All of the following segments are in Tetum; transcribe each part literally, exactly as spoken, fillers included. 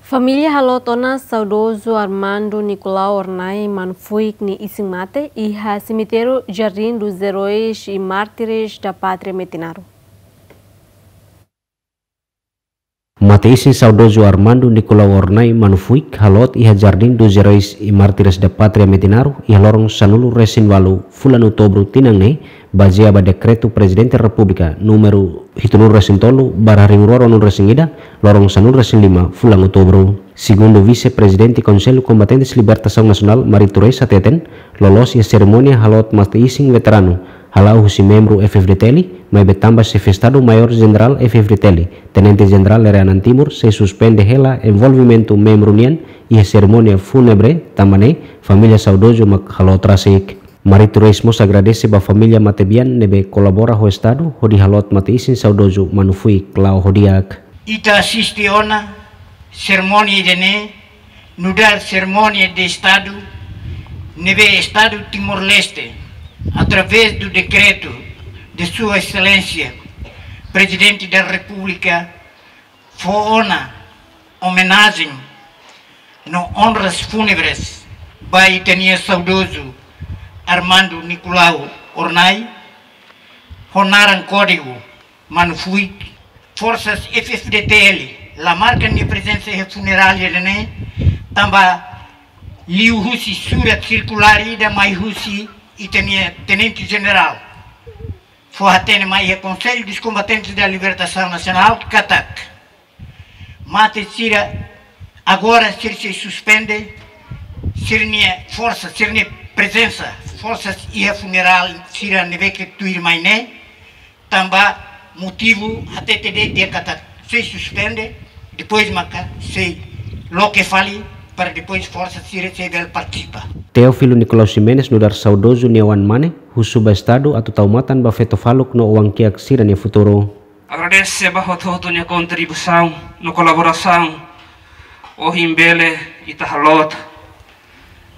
Família haloot ona saudozu Armando Nicolau Hornai Mano Fuik nia isin-mate iha semitériu Jardim dos Heróis e Mártires da Pátria Metinaro. Mate-isin saudozu Armando Nicolau Hornai Mano Fuik haloot iha Jardim dos Heróis e Mártires da Pátria Metinaro iha loron sanulu-resin-ualu fulan Outubru tinan ne'e, bazeia ba dekretu Prezidente Repúblika númeru hitunulu-resin-tolu barra rihun rua ruanulu-resin-ida, loron sanulu-resin-lima fulan Outubru. Segundu Vise-Prezidente Konsellu Kombatentes Libertasaun Nasionál, Marito Reis hateten, loloos iha serimónia haloot mate-isin veteranu hala'o husi membru F-FDTL, maibé tanba Xefe Estadu Maiór Jenerál F-FDTL, Tenente Jenerál Lere Anan Timur, sei suspende hela envolvimentu membru nian iha serimónia fúnebre, tanba ne'e família saudozu mak haloot rasik. Marito Reis mós agradese ba família matebian ne'ebé kolabora ho Estadu hodi haloot mate-isin saudozu Mano Fuik la'o ho di'ak. Ita asiste ona serimónia ida-ne'e nu'udar serimónia de Estadu ne'ebé Estadu Timor-Leste, através do decreto de Sua Excelência Presidente da República, fó ona omenajen no onras fúnebres ba ita-nia saudozu Armando Nicolau Hornai, ho naran kódigu Mano Fuik. Forsas F-FDTL la marka nia prezensa iha funerália ida-ne'e, tanba liu husi surat sirkulár ida mai husi ita-nia Tenente Jenerál, fó hatene mai iha Conselho dos Combatentes da Libertação Nacional katak mate sira agora sira sei suspende sira-nia forsa, sira-nia prezensa, forsas iha funerál sira ne'ebé ke tuir mai ne'e, tanba motivu hatete de'it katak sei suspende, depois maka sei loke fali, para depois forsa sira sei bele partisipa. Teófilo Nicolau Ximenes nu'udar saudozu nia oan-mane husu ba Estadu atu tau matan ba feto-faluk no oan-kiak sira-nia futuru. Agradese ba hotu-hotu nia kontribuisaun no kolaborasaun ohin bele ita haloot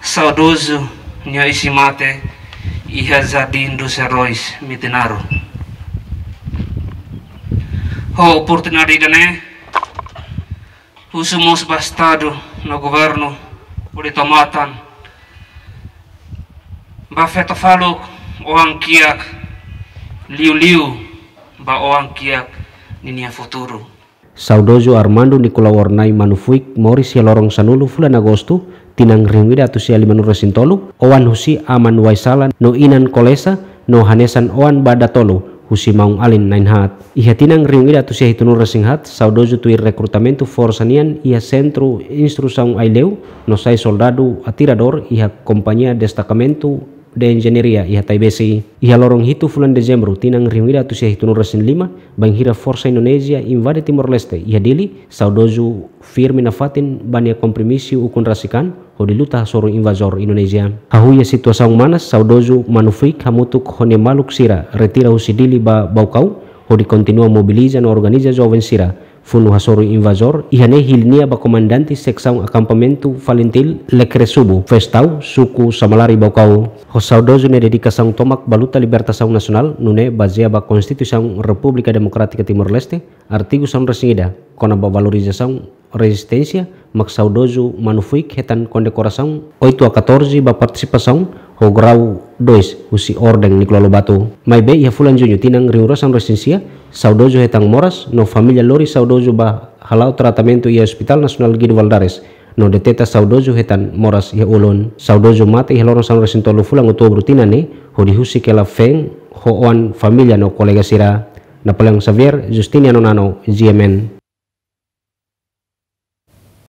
saudozu nia isin-mate iha Jardim dos Heróis, Metinaro. Ho oportunidade ida-ne'e, husu mós ba Estadu no Governu hodi tau matan ba feto-faluk, oan-kiak, liuliu ba oan-kiak ninia futuru. Saudozu Armando Nicolau Hornai Mano Fuik moris iha loron sanulu fulan Agostu, tinan rihun ida atus sia limanulu-resin-tolu, oan husi aman Waisala no inan Kolesa, no hanesan oan ba datolu husi maun-alin na'in-haat. Iha tinan rihun ida atus sia hitunulu-resin-haat, saudozu tuir rekrutamentu forsa nian iha Sentru Instrusaun Aileu, no sai soldadu atiradór iha Kompañia Destakamentu de Enjeñaria iha Taibesi. Iha loron hitu fulan Dezembru, tinan rihun ida atus sia hitunulu-resin-lima, bainhira forsa Indonézia invade Timor-Leste iha Dili, saudozu firme nafatin ba nia kompromisu ukun rasik an hodi luta hasoru invazór Indonézia. Hahú iha situasaun manas, saudozu Mano Fuik hamutuk ho nia maluk sira retira husi Dili ba Baucau, hodi kontinua mobiliza no organiza joven sira funu hasoru invazór, iha ne'e hili nia ba komandante seksaun akampamentu Falintil, Lekresubu, Festau, suku Samalari, Baucau. Ho saudozu nia dedikasaun tomak ba luta libertasaun nasionál, nune'e bazeia ba Konstituisaun Repúblika Demokrátika Timor-Leste, artigu sanulu-resin-ida, kona-ba valorizasaun rezisténsia, mak saudozu Mano Fuik hetan kondekorasaun oito a catorze ba partisipasaun ho grau dois husi Orden Nicolau Lobato. Maibé iha fulan Juñu tinan rihun rua sanulu-resin-sia, saudozu hetan moras no família lori saudozu ba hala'o tratamentu iha Hospital Nasionál Guido Valadares, no deteta saudozu hetan moras iha ulun. Saudozu mate iha loron sanulu-resin-tolu fulan Outubru tinan ne'e, hodi husik hela feen ho oan, família no kolega sira. Napoleão Xavier, Justiniano Nano, G M N.